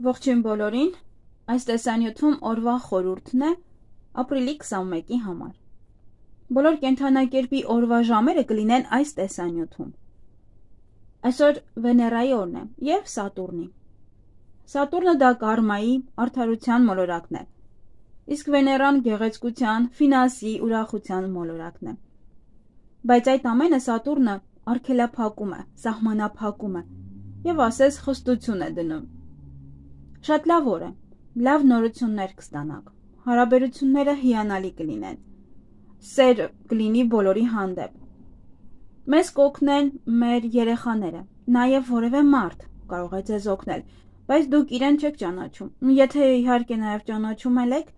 Ողջույն բոլորին, այս տեսանյութում օրվա խորհուրդն է ապրիլի 21-ի համար։ Բոլոր կենդանակերպի օրվա ժամերը կլինեն այս տեսանյութում։ Այսօր Վեներայի օրն է և Սատուրնի։ Սատուրնը դա կարմայի, արդարության մոլորակն է, իսկ Վեներան գեղեցկության, ֆինանսի, ուրախության մոլորակն է։ Բայց այդ ամենը Սատուրնը արգելափակում է, սահմանափակում է և ասես խստություն է դնում։ Շատ լավ օր է, լավ նորություններ կստանաք, հարաբերությունները հիանալի կլինեն, սեր կլինի բոլորի հանդեպ։ Մեզ կօգնեն մեր երեխաները, նաև որևէ մարդ կարող է ձեզ օգնել, բայց դուք իրեն չեք ճանաչում։ Եթե իհարկե նաև ճանաչում եք,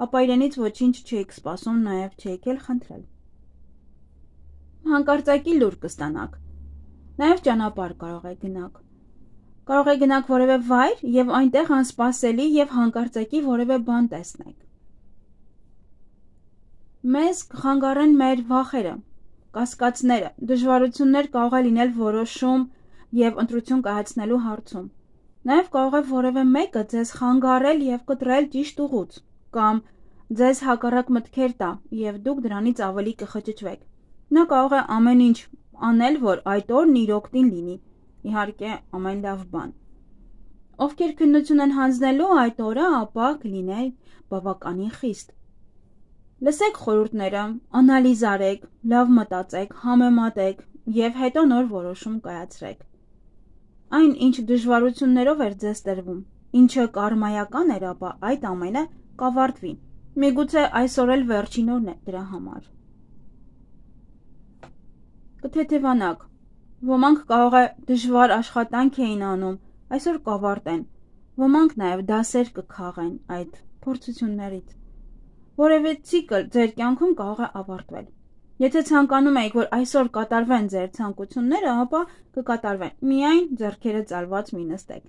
ապա իրենից ոչինչ չեք սպասում, նաև չեք էլ խնդրել։ Հանկարծակի լուր կստանաք, նաև ճանապարհ կարող եք գնաք։ Կարող եք գնաք որևէ վայր և այնտեղ անսպասելի և հանկարծակի որևէ բան տեսնեք։ Մեզ կխանգարեն մեր վախերը, կասկածները, դժվարություններ կարող է լինել որոշում և ընտրություն կայացնելու հարցում։ Նաև կարող է որևէ մեկը ձեզ խանգարել և կտրել ճիշտ ուղուց, կամ ձեզ հակառակ մտքեր տա, և դուք դրանից ավելի կխճճվեք։ Նա կարող է ամեն ինչ անել, որ այդ օրն իր օգտին լինի, իհարկե ամեն լավ բան։ Ովքեր քննություն են հանձնելու այդ օրը, ապա կլիներ բավականին խիստ։ Լսեք խորհուրդները, անալիզ արեք, լավ մտածեք, համեմատեք և հետո նոր որոշում կայացրեք։ Այն, ինչ դժվարություններով էր ձեզ տրվում, ինչը կարմայական էր, ապա այդ ամենը կավարտվի։ Միգուցե այսօր էլ վերջին օրն է դրա համար։ Կթեթևանաք։ Ոմանք կարող է դժվար աշխատանք էին անում, այսօր կավարտեն։ Ոմանք նաև դասեր կքաղեն այդ փորձություններից։ Որևէ ցիկլ ձեր կյանքում կարող է ավարտվել։ Եթե ցանկանում եք, որ այսօր կատարվեն ձեր ցանկությունները, ապա կկատարվեն։ Միայն ձեռքերը ծալված մի նստեք։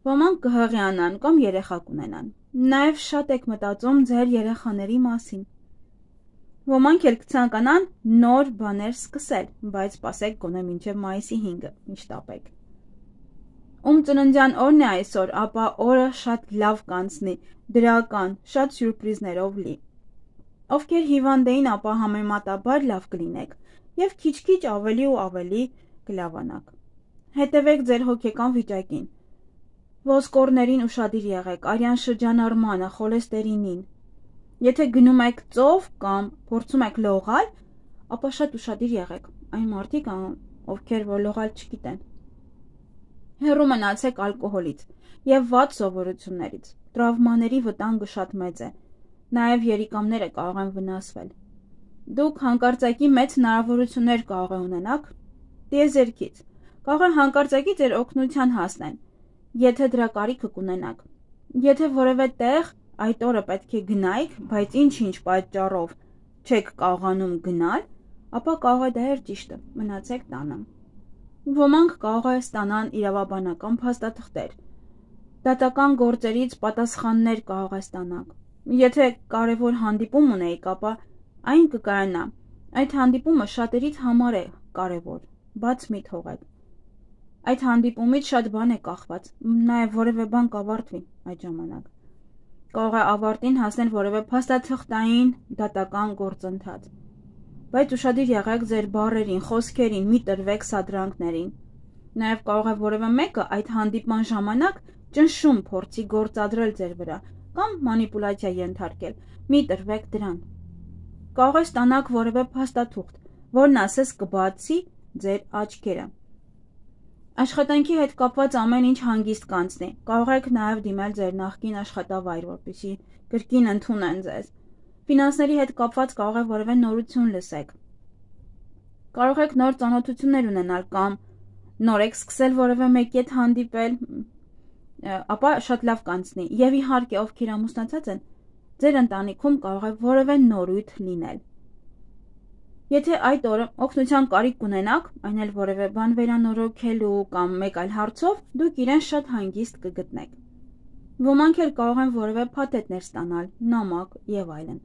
Ոմանք կհղիանան կամ երեխա կունենան։ Նաև շատ եք մտածում ձեր երեխաների մասին։ Ոմանք էլ կցանկանան նոր բաներ սկսել, բայց սպասեք գոնե մինչև մայիսի 5-ը, ինչ տապեք։ Ում ծննդյան օրն է այսօր, ապա օրը շատ լավ կանցնի, դրական, շատ սյուրպրիզներով լի։ Ովքեր հիվանդ էին, ապա համեմատաբար լավ կլինեք և քիչ-քիչ ավելի ու ավելի կլավանաք։ Հետևեք ձեր հոգեկան վիճակին։ Ոսկորներին ուշադիր եղեք, արյան շրջանառմանը, խոլեստերինին։ Եթե գնում եք ծով կամ փորձում եք լողալ, ապա շատ ուշադիր եղեք, այն մարդիկ, ովքեր որ լողալ չգիտեն։ Հեռու մնացեք ալկոհոլից և վատ սովորություններից, տրավմաների վտանգը շատ մեծ է, նաև երիկամները կարող են վնասվել։ Դուք հանկարծակի մեծ հնարավորություններ կարող է ունենաք տիեզերքից, կարող է հանկարծակի ձեր օգնության հասնեն, եթե դրա կարիքը կունենաք։ Եթե որևէ տեղ այդ օրը պետք է գնայիք, բայց ինչ-ինչ պատճառով չեք կարողանում գնալ, ապա կարող է դա էր ճիշտը, մնացեք տանը։ Ոմանք կարող է ստանան իրավաբանական փաստաթղթեր, դատական գործերից պատասխաններ կարող է ստանաք։ Եթե կարևոր հանդիպում ունեիք, ապա այն կկայանա։ Այդ հանդիպումը շատերից համար է կարևոր, բաց մի թողեք։ Այդ հանդիպումից շատ բան է կախված, նաև որևէ բան կավարտվի այդ ժամանակ։ Կարող է ավարտին հասնել որևէ փաստաթղթային դատական գործընթաց։ Բայց ուշադիր եղեք ձեր բառերին, խոսքերին, մի տրվեք սադրանքներին։ Նաև կարող է որևէ մեկը այդ հանդիպման ժամանակ ճնշում փորձի գործադրել ձեր վրա կամ մանիպուլյացիա ենթարկել։ Մի տրվեք դրան։ Կարող է ստանաք որևէ փաստաթուղթ, որն ասես կբացի ձեր աչքերը։ Աշխատանքի հետ կապված ամեն ինչ հանգիստ կանցնի։ Կարող եք նաև դիմել ձեր նախկին աշխատավայր, որպեսզի կրկին ընդունեն ձեզ։ Ֆինանսների հետ կապված կարող է որևէ նորություն լսեք։ Կարող եք նոր ծանոթություններ ունենալ կամ նոր եք սկսել որևէ մեկի հետ հանդիպել, ապա շատ լավ կանցնի։ Եվ իհարկե, ովքեր ամուսնացած են, ձեր ընտանիքում կարող է որևէ նորույթ լինել։ Եթե այդ օրը օգնության կարիք կունենաք, այն էլ որևէ բան վերանորոգելու կամ մեկ այլ հարցով, դուք իրեն շատ հանգիստ կգտնեք։ Ոմանք էլ կարող են որևէ փաթեթներ ստանալ, նամակ եւ այլն։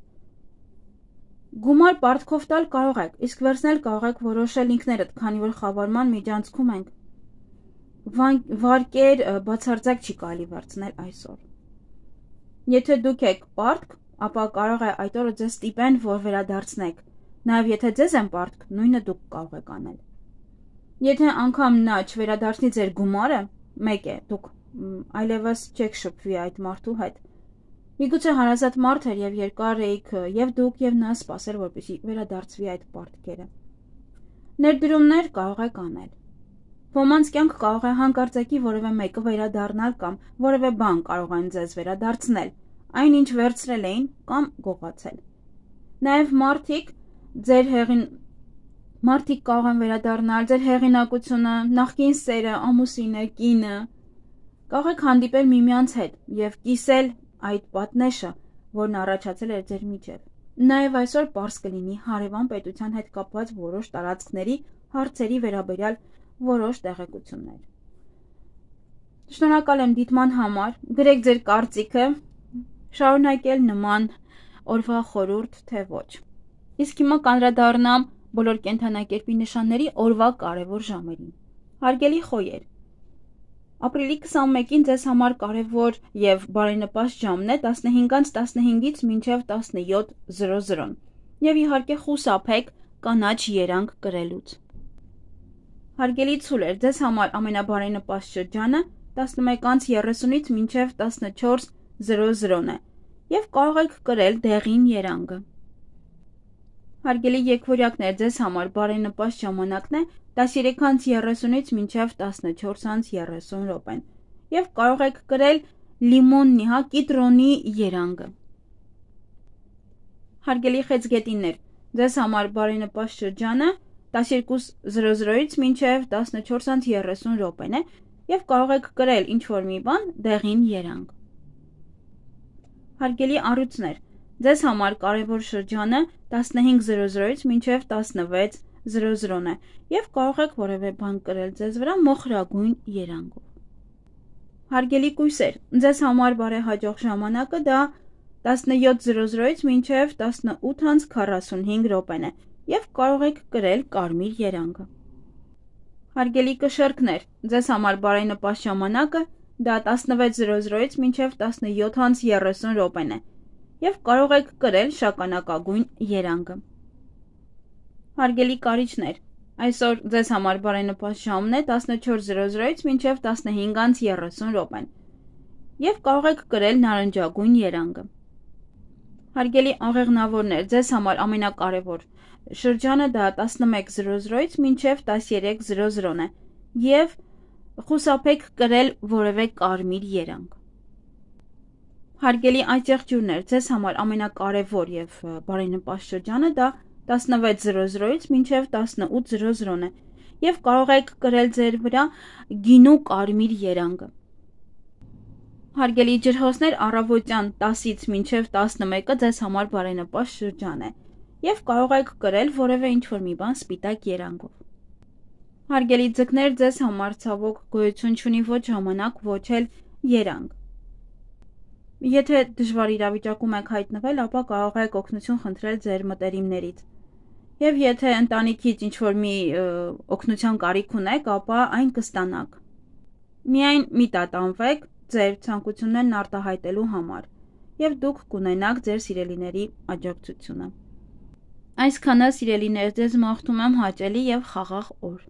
Գումար պարտքով տալ կարող եք, իսկ վերցնել կարող եք որոշել ինքներդ, քանի որ խավարման միջանցքում ենք։ վարկեր բացարձակ չի կարելի վարձնել այսօր։ Եթե դուք եք պարտք, ապա կարող է այդ օրը ձեզ ստիպեն, որ վերադարձնեք։ Նաև եթե ձեզ են պարտք, նույնը դուք կարող եք անել։ Եթե անգամ նա չվերադարձնի ձեր գումարը, մեկ է, դուք այլևս չեք շփվի այդ մարդու հետ։ Միգուցե հարազատ մարդ էր եւ երկար էիք եւ դուք եւ նա սպասել, որպեսզի վերադարձվի այդ պարտքերը։ Ներդրումներ կարող եք անել։ Ոմանց կյանք կարող է հանկարծակի որևէ մեկը վերադառնալ կամ որևէ բան կարող են ձեզ վերադարձնել, այն ինչ վերցրել էին կամ գողացել։ Նաև մարդիկ կարող են վերադառնալ, ձեր հեղինակությունը, նախկին սերը, ամուսինը, կինը։ Կարող եք հանդիպել միմյանց հետ եւ կիսել այդ պատնեշը, որն առաջացել էր ձեր միջև։ Նաև այսօր պարզ կլինի հարևան պետության հետ կապված որոշ տարածքների հարցերի վերաբերյալ որոշ տեղեկություններ։ Շնորհակալ եմ դիտման համար, գրեք ձեր կարծիքը, շարունակել նման օրվա խորհուրդ, թե ոչ։ Իսկ հիմա կանդրադառնամ բոլոր կենդանակերպի նշանների օրվա կարևոր ժամերին։ Հարգելի խոյեր, ապրիլի 21-ին ձեզ համար կարևոր եւ բարենպաստ ժամն է 15:15-ից մինչև 17:00 եւ իհարկե խուսափեք կանաչ երանգ կրելուց։ Հարգելի ցուլեր, ձեզ համար ամենաբարենպաստ շրջանը 11:30-ից մինչև 14:00 է եւ կարող եք կրել դեղին երանգը։ Հարգելի եկվորյակներ, ձեզ համար բարենպաստ ժամանակն է 13:30-ից մինչև 14:30 րոպեն եւ կարող եք կրել լիմոնի, կիտրոնի երանգը։ Հարգելի խեցգետիններ, ձեզ համար բարենպաստ շրջանը 12:00-ից մինչև 14:30 րոպեն է եւ կարող եք կրել ինչ-որ մի բան դեղին երանգ։ Հարգելի առյուծներ, ձեզ համար կարևոր շրջանը 15:00-ից մինչև 16:00 է եւ կարող եք որևէ բան կրել ձեզ վրա մոխրագույն երանգով։ Հարգելի կույսեր, ձեզ համար բարեհաջող ժամանակը դա 17:00-ից մինչև 18:45 րոպեն է եւ կարող եք կրել կարմիր երանգը։ Հարգելի կշեռքներ, ձեզ համար բարենպաստ ժամանակը դա 16:00-ից մինչև 17:30 րոպեն է եւ կարող եք կրել շագանակագույն երանգը։ Հարգելի կարիճներ, այսօր ձեզ համար բարենպաստ ժամն է 14:00-ից մինչև 15:30 րոպեն եւ կարող եք կրել նարնջագույն երանգը։ Հարգելի աղեղնավորներ, ձեզ համար ամենակարևոր շրջանը դա 11:00-ից մինչև 13:00 է եւ խուսափեք կրել որևէ կարմիր երանգ։ Հարգելի այծեղջյուրներ, ձեզ համար ամենակարևոր եւ բարենպաստ շրջանը դա 16:00-ից մինչև 18:00 է եւ կարող եք կրել ձեր վրա գինու կարմիր երանգը։ Հարգելի ջրհոսներ, առավոտյան 10-ից մինչև 11-ը ձեզ համար բարենպաստ շրջան է եւ կարող եք կրել որևէ ինչ-որ մի բան սպիտակ երանգով։ Հարգելի ձկներ, ձեզ համար ցավոք գոյություն չունի ոչ ժամանակ, ոչ էլ երանգ։ Եթե դժվար իրավիճակում եք հայտնվել, ապա կարող եք օգնություն խնդրել ձեր մտերիմներից։ Եվ եթե ընտանիքից ինչ-որ մի օգնության կարիք ունեք, ապա այն կստանաք։ Միայն մի տատանվեք ձեր ցանկություններն արտահայտելու համար եւ դուք կունենաք ձեր սիրելիների աջակցությունը։ Այսքանը, սիրելիներ, ձեզ մաղթում եմ հաճելի եւ խաղաղ օր։